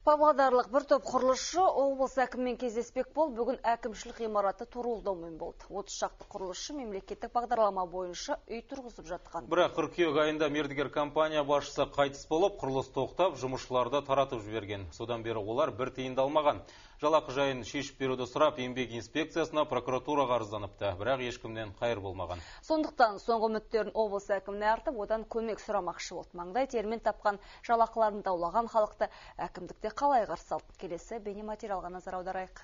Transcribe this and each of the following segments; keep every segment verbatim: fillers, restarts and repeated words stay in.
Павлодарлык bir топ курулушчу облус әкимимен кездеспек бол бүгүн әкимчилик гимараты турулдоомун болду. отуз шакты курулушчу мемлекеттик багдарлама боюнча үй тургузуп жаткан. Бирок кыркүйек айында мердигер компания башчысы кайтыс болуп, курулуш токтоп, жумушчуларды таратып жиберген. Содан бери олар бир тыйын да алмаган. Жалакы жайын шешип берүүдү сурап, эмгек инспекциясына, прокуратурага арызданыпты, бирок эч кимден кайыр болмаган. Сондуктан соңку үмүттөрүн облус әкимине артып, одан көмөк сурамакчы болду. Маңдай термин тапкан, жалакыларын даулаган халыкты әкимдикте калай каршы алды? Келесі бейне материалга назар аударайык.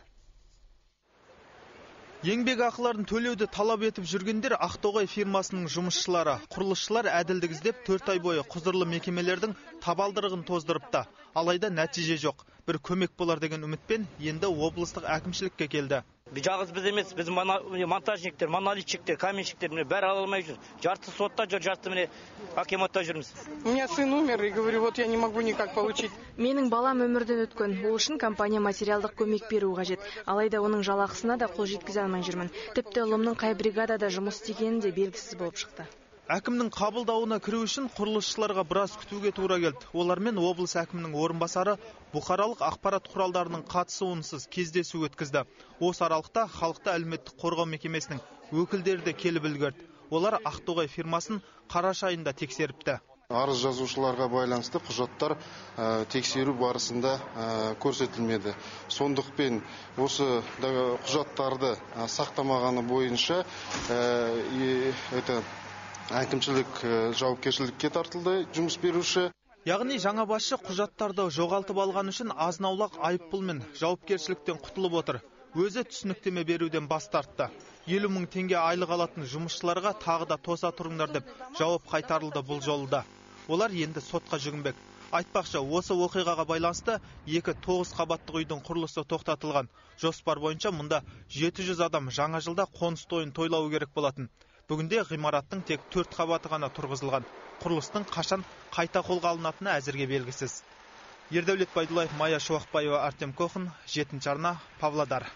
Еңбек акыларын төлөөдү талап этип жүргендер Ақтоғай фирмасынын жумушчулары. Курулушчулар әдилдик издеп төрт ай бою кузурлуу мекемелердин табалдырыгын тоздурупта. Алайда натыйжа жок. Бир көмөк болар деген үмүтпен энди облустук әкимчиликке келди. Жалгыз биз эмес, биз монтажниктер, монолитчиктер, каменщиктер баары ала албай жүр. Жарты сотта жүр, жарты менен акиматта жүрмүз. У меня сын умер и говорю, вот я не могу никак получить. Менин балам өмүрдөн өткөн. Бул үчүн компания материалдык көмөк берүү кажет. Алайда онун жалакысына да кол жеткизе алмай жүрмүн. Типти улумдун кай бригадада жумуш истегени де белгисиз болуп чыкты. Әкимнин кабылдауына кирүү үчүн курулушчуларга бир аз күтүүгө туура келди. Олар менен облус әкиминин орун басары букаралык акпарат куралдарынын катышуусунсуз кездесүү өткөздү. Осы аралыкта халыкты алиметтик коргоо мекемесинин өкүлдери да келип үлгөрдү. Олар Ақтоғай фирмасын караш айында текшерипти. Арыз жазуучуларга байланыштуу кужаттар текшерүү барысында көрсөтүлмөдү. Сондуктан осы кужаттарды сактамаганы боюнча это әкимчилик жоопкерчиликке тартылды жумуш берүүчү. Ягыни жаңа башчы кужаттарды жогалтып алган үчүн азын-аулак айыппул менен жоопкерчиликтен кутулуп отур. Өзү түшүнүктөмө берүүдөн баш тартты. элүү миң теңге айлык алатын жумушчуларга тагы да тоса туруңдар деп жооп кайтарылды бул жолу да. Олар энди сотко жүгүнбек. Айтпакчы, осы окуйгага байланыштуу эки тогуз кабаттык үйдүн курулушу токтотулган. Жоспар боюнча мында жети жүз адам жаңа жылда конус тоюн тойлоо керек болатын. Бүгүнде гымараттын тек төрт кабаты гана тургузулган. Курулуштун качан кайта колго алынатыны азырге белгисиз. Ердәулет Байдуллаев, Майя Шуакбаева, Артем Кохин, жетинчи арна, Павлодар.